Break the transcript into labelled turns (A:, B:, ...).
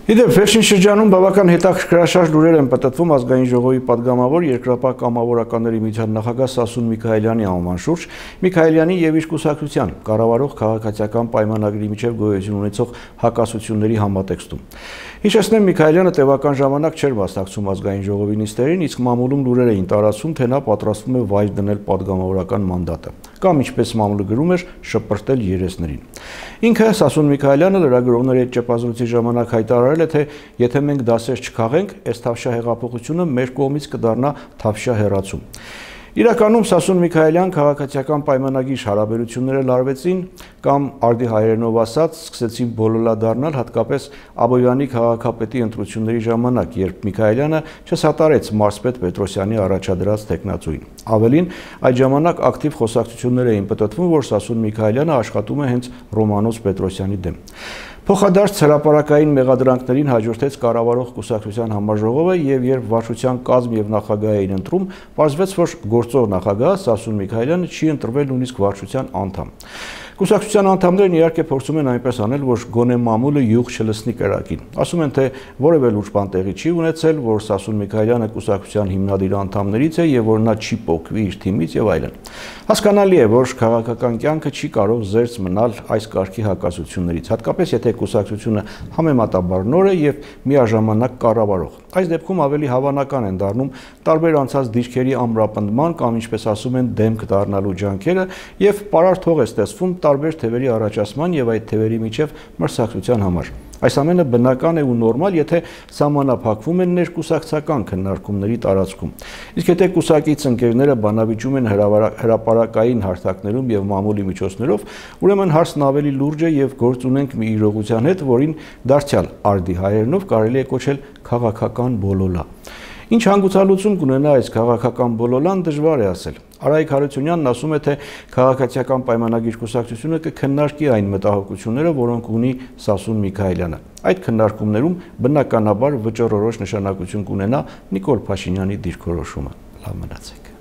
A: Իդեպ վերջին շրջանում բավական հետաքրքրաշարժ լուրեր են պատտվում ազգային ժողովի падգամավոր երկրապահ կամավորականների միության նախագահ Սասուն Միքայելյանի անվան շուրջ, Միքայելյանի եւ իր կուսակցության կառավարող քաղաքացիական պայմանագրի միջև գոյություն ունեցող հակասությունների համատեքստում։ Հիշեցնեմ, Միքայելյանը տևական ժամանակ չէր մասնակցում ազգային ժողովի նիստերին, իսկ մամուլում լուրեր էին տարածվում, թե նա պատրաստվում է վայր դնել падգամավորական մանդատը, կամ ինչպես մամուլը գրում էր, շպրտել երեսներին։ Ինքը Սասուն Միքայելյանը լրագրողների հետ ճեպազրույցի ժամանակ հայտարարել է, թե եթե մենք դասեր չքաղենք, այս թավշյա հեղափոխությունը մեր կողմից կդառնա թավշյա հեռացում։ Իրականում Սասուն Միքայելյան քաղաքացիական պայմանագիր հարաբերությունները լարվեցին կամ արդի հայերենով ասած սկսեցին բոլոլա դառնալ հատկապես Աբովյանի քաղաքապետի ընտրությունների ժամանակ, երբ Միքայելյանը չսատարեց մարզպետ Պետրոսյանի առաջադրած թեկնածուին։ Ավելին, այդ ժամանակ ակտիվ խոսակցություններ էին պտտվում, որ Սասուն Միքայելյանը աշխատում է հենց Ռոմանոս Պետրոսյանի դեմ։ Փոխադարձ հրապարակային մեղադրանքներին հաջորդեց կառավարող կուսակցության համաժողովը եւ երբ վարչության կազմ եւ նախագահ էին ընտրում, պարզվեց, որ գործող նախագահ Սասուն Միքայելյանը չի ընտրվել նույնիսկ վարչության անդամ։ Կուսակցության անդամներն իհարկե փորձում են այնպես անել, որ գոնե մամուլը յուղ չլցնի կրակին։ Ասում են, թե որևէ լուրջ բան տեղի չի ունեցել, որ Սասուն Միքայելյանը կուսակցության հիմնադիր անդամներից է եւ որ նա չի պոկվի իր թիմից եւ այլն։ Հասկանալի է, որ քաղաքական կյանքը չի կարող զերծ մնալ այս կարգի հակասություններից, հատկապես եթե կուսակցությունը համեմատաբար նոր է եւ միաժամանակ կառավարող։ Այս դեպքում ավելի հավանական են դառնում տարբեր անցած դիրքերի ամրապնդման կամ ինչպես ասում են դեմք դառնալու ջանքերը եւ պարարտ հող է ստեղծվում տարբեր թևերի առաջացման եւ այդ թևերի միջև մրցակցության համար։ Այս ամենը բնական է ու նորմալ, եթե սահմանափակվում են ներկուսակցական քննարկումների տարածքում։ Իսկ եթե կուսակից ընկերները բանավիճում են հրապարակային հարթակներում եւ մամուլի միջոցներով, ուրեմն հարցն ավելի լուրջ է եւ գործ ունենք մի իրողության հետ, որին դարձյալ արդի հայերենով կարելի է կոչել քաղաքական բոլոլա։ Ինչ հանգուցալուծում կունենա այս քաղաքական բոլոլան, դժվար է ասել։ Արայիկ Հարությունյանն ասում է, թե քաղաքացիական պայմանագիր կուսակցությունը կքննարկի այն մտահոգությունները, որոնք ունի Սասուն Միքայելյանը։ Այդ քննարկումներում բնականաբար վճռորոշ նշանակություն կունենա Նիկոլ Փաշինյանի դիրքորոշումը։ Լավ մնացեք։